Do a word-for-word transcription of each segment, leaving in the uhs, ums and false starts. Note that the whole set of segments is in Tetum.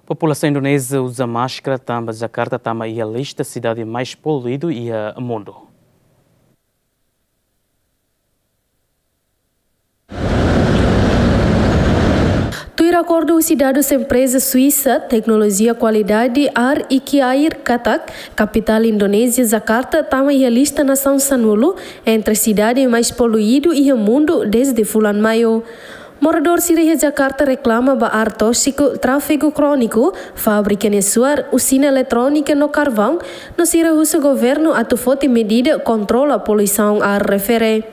Populasaun Indonézia uza máskara tanba Jakarta tama iha lista sidade mais poluídu iha mundu. Tuir akordu husi dadus empreza Suísa teknolojia kualidade ar Ikiair katak, kapitál Indonézia Jakarta tama iha lista nasaun sanulu entre sidade mais poluídu iha mundu dezde fulan Maiu. Moradór sira iha Jakarta reklama ba ar tóxiku, tráfegu króniku, fábrika nia suar, usina eletrónika no karvaun, no sira husu governu atu foti medida kontrola poluisaun ar refere.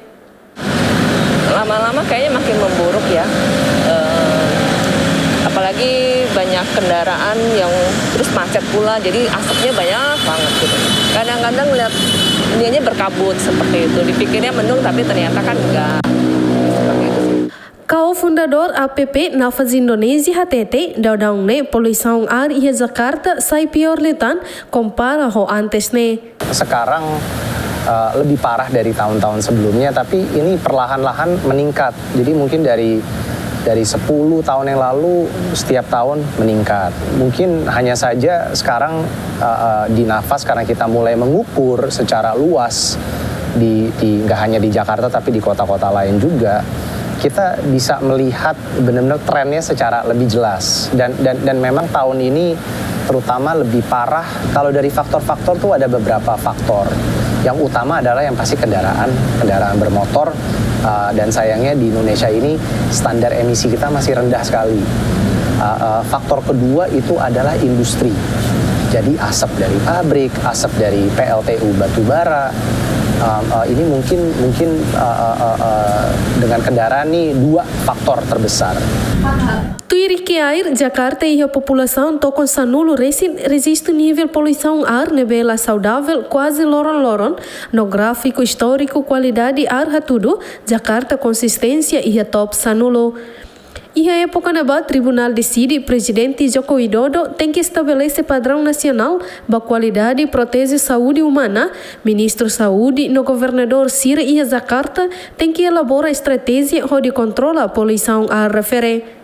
Lama-lama kayaknya makin memburuk ya. Eh, apalagi banyak kendaraan yang terus macet pula, jadi asapnya banyak banget gitu. Kadang-kadang lihat ininya berkabut seperti itu, dipikirnya mendung tapi ternyata kan enggak. Seperti itu sih. Kao fundadór A P P Nafas Indonézia hatete, daudaun ne'e poluisaun ar iha Jakarta sai piór liután kompara ho antes ne'e. Sekarang, eh, lebih parah dari tahun-tahun sebelumnya, tapi ini perlahan-lahan meningkat. Jadi mungkin dari, dari sepuluh tahun yang lalu, setiap tahun meningkat. Mungkin hanya saja sekarang, eh, eh, di Nafas, karena kita mulai mengukur secara luas di, di, nggak hanya di Jakarta, tapi di kota-kota lain juga, kita bisa melihat benar-benar trennya secara lebih jelas. Dan, dan, dan memang tahun ini terutama lebih parah. Kalau dari faktor-faktor tuh ada beberapa faktor. Yang utama adalah yang pasti kendaraan, kendaraan bermotor. Uh, dan sayangnya di Indonesia ini standar emisi kita masih rendah sekali. Uh, uh, faktor kedua itu adalah industri. Jadi asap dari pabrik, asap dari P L T U batubara. Um, uh, ini mungkin, mungkin uh, uh, uh, uh, dengan kendaraan nih dua faktor terbesar. Tuir Ikiair, Jakarta iha populasaun tokon sanulu resin rejistu nivel poluisaun ar ne'ebé la saudavel kuaze loron-loron, no gráfiku istóriku kualidade ar hatudu, Jakarta konsisténsia iha top sanulu. Iha époka ne'ebá Tribunál deside Prezidente Joko Widodo tenke estabelese padraun nasionál ba kualidade proteje saúde umana, Ministru Saúde no governadór sira iha Jakarta tenke elabora estratéjia hodi kontrola poluisaun ar refere.